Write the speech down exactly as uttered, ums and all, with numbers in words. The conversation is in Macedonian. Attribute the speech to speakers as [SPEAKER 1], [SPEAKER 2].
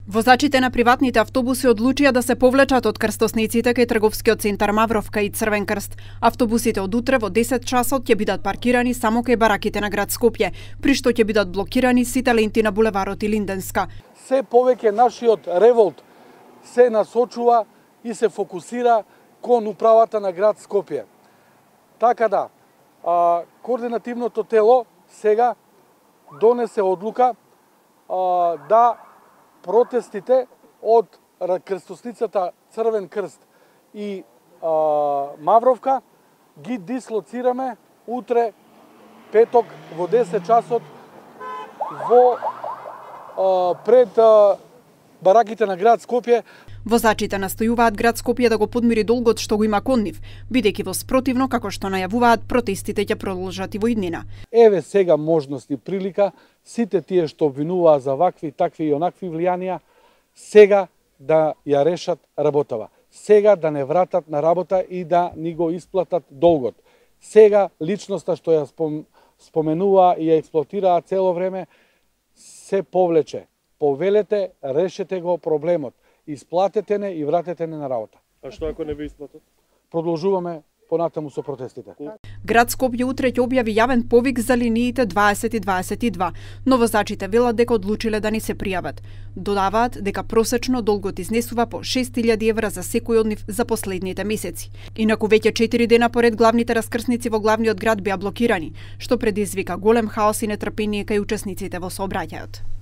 [SPEAKER 1] Возачите на приватните автобуси одлучија да се повлечат од крстосниците кај трговскиот центар Мавровка и Црвен крст. Автобусите од утре во десет часот ќе бидат паркирани само кај бараките на град Скопје, при што ќе бидат блокирани сите ленти на булеварот и Линденска.
[SPEAKER 2] Се повеќе нашиот револт се насочува и се фокусира кон управата на град Скопје. Така да, а, координативното тело сега донесе одлука а, да протестите од крстосницата Црвен крст и а, Мавровка ги дислоцираме утре петок во десет часот во а, пред а, бараките на град Скопје.
[SPEAKER 1] Возачите настојуваат град Скопје да го подмири долгот што го има кон нив, бидејќи во спротивно, како што најавуваат, протестите ќе продолжат и во иднина.
[SPEAKER 2] Еве сега можност и прилика сите тие што обвинуваат за вакви, такви и онакви влијанија, сега да ја решат работава. Сега да не вратат на работа и да ни го исплатат долгот. Сега личноста што ја спом, споменува и ја експлоатираа цело време се повлече. Повелете, решете го проблемот. Исплатете не и вратете не на работа.
[SPEAKER 3] А што ако не ви исплатат?
[SPEAKER 2] Продолжуваме понатаму со протестите.
[SPEAKER 1] Град Скопје утре ќе објави јавен повик за линиите дваесет и дваесет и два, но возачите велат дека одлучиле да не се пријават. Додаваат дека просечно долгот изнесува по шест илјади евра за секој од нив за последните месеци. Инаку веќе четири дена поред главните раскрсници во главниот град беа блокирани, што предизвика голем хаос и нетрпение кај учесниците во сообраќајот.